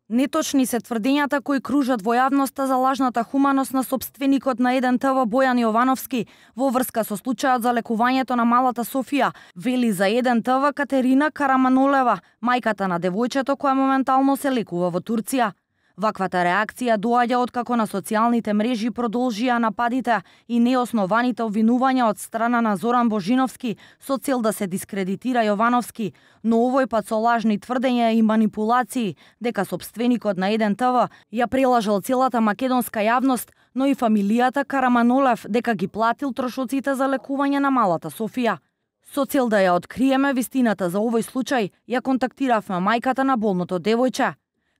Неточни се тврдењата кои кружат во јавноста за лажната хуманост на сопственикот на 1TV Бојан Јовановски во врска со случајот за лекувањето на малата Софија, вели за 1TV Катерина Караманолева, мајката на девојчето која моментално се лекува во Турција. Ваквата реакција доаѓа откако на социјалните мрежи продолжија нападите и неоснованите обвинувања од страна на Зоран Божиновски со цел да се дискредитира Јовановски, но овој пат со лажни тврдења и манипулации дека сопственикот на 1TV ја прелажал целата македонска јавност, но и фамилијата Караманолев дека ги платил трошоците за лекување на малата Софија. Со цел да ја откриеме вистината за овој случај, ја контактиравме мајката на болното девојче.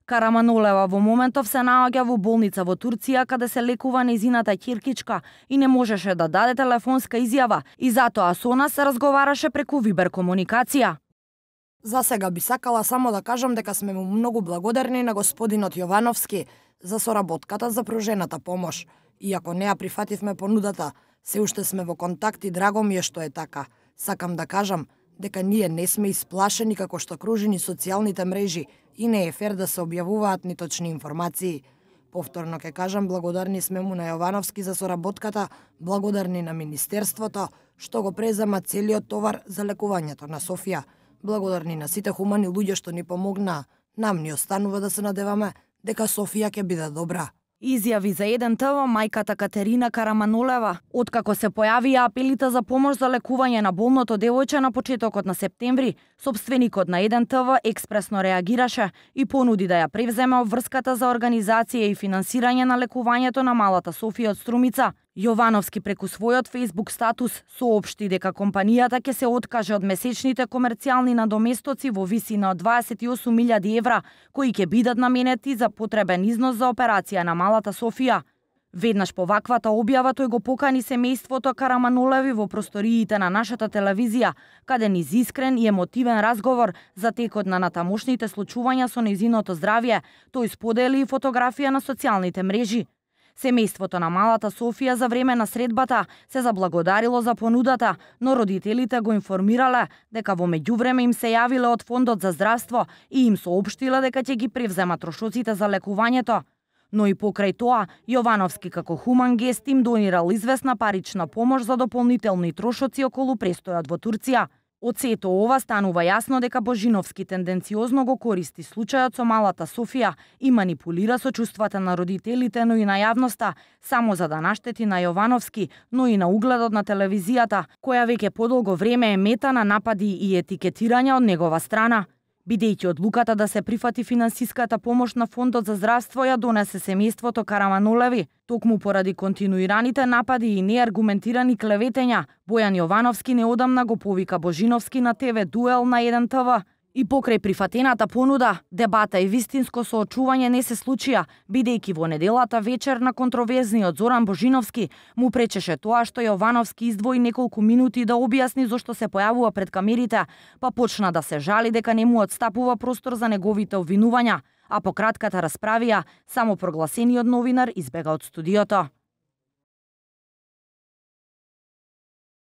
Караманолева во моментов се наоѓа во болница во Турција каде се лекува нејзината ќеркичка и не можеше да даде телефонска изјава и затоа со нас разговараше преку Вибер комуникација. За сега би сакала само да кажам дека сме му многу благодарни на господинот Јовановски за соработката за пружената помош. Иако не ја прифативме понудата, се уште сме во контакт и драго ми е што е така. Сакам да кажам дека ние не сме исплашени како што кружи ни социјалните мрежи и не е фер да се објавуваат ниточни информации. Повторно ќе кажам, благодарни сме му на Јовановски за соработката, благодарни на Министерството, што го презема целиот товар за лекувањето на Софија. Благодарни на сите хумани луѓе што ни помогнаа. Нам ни останува да се надеваме дека Софија ќе биде добра. Изјави за 1TV мајката Катерина Караманолева, откако се појавија апелите за помош за лекување на болното девојче на почетокот на септември, сопственикот на 1TV експресно реагираше и понуди да ја превземе обврската за организација и финансирање на лекувањето на малата Софија од Струмица. Јовановски преку својот Facebook статус соопшти дека компанијата ќе се откаже од месечните комерцијални надоместоци во висина од 28.000 евра, кои ќе бидат наменети за потребен износ за операција на малата Софија. Веднаш по ваквата објава тој го покани семејството Караманолеви во просториите на нашата телевизија, каде низ искрен и емотивен разговор за текот на натамошните случувања со нејзиното здравје, тој сподели и фотографија на социјалните мрежи. Семејството на малата Софија за време на средбата се заблагодарило за понудата, но родителите го информирале дека во меѓувреме им се јавиле од Фондот за здравство и им соопштиле дека ќе ги превземат трошоците за лекувањето. Но и покрај тоа, Јовановски како хуман гест им донирал известна парична помош за дополнителни трошоци околу престојот во Турција. Од сето ова станува јасно дека Божиновски тенденциозно го користи случајот со малата Софија и манипулира со чувствата на родителите, но и на јавноста, само за да наштети на Јовановски, но и на угледот на телевизијата, која веќе подолго време е мета на напади и етикетирање од негова страна. Бидејќи одлуката да се прифати финансиската помош на Фондот за здравство ја донесе семејството Караманолеви, токму поради континуираните напади и неаргументирани клеветења, Бојан Јовановски неодамна го повика Божиновски на ТВ дуел на 1TV. И покрај прифатената понуда, дебата и вистинско соочување не се случија, бидејќи во неделата вечер на контроверзниот Зоран Божиновски му пречеше тоа што Јовановски издвои неколку минути да објасни зошто се појавува пред камерите, па почна да се жали дека не му отстапува простор за неговите обвинувања, а по кратката расправија, само прогласениот новинар избега од студиото.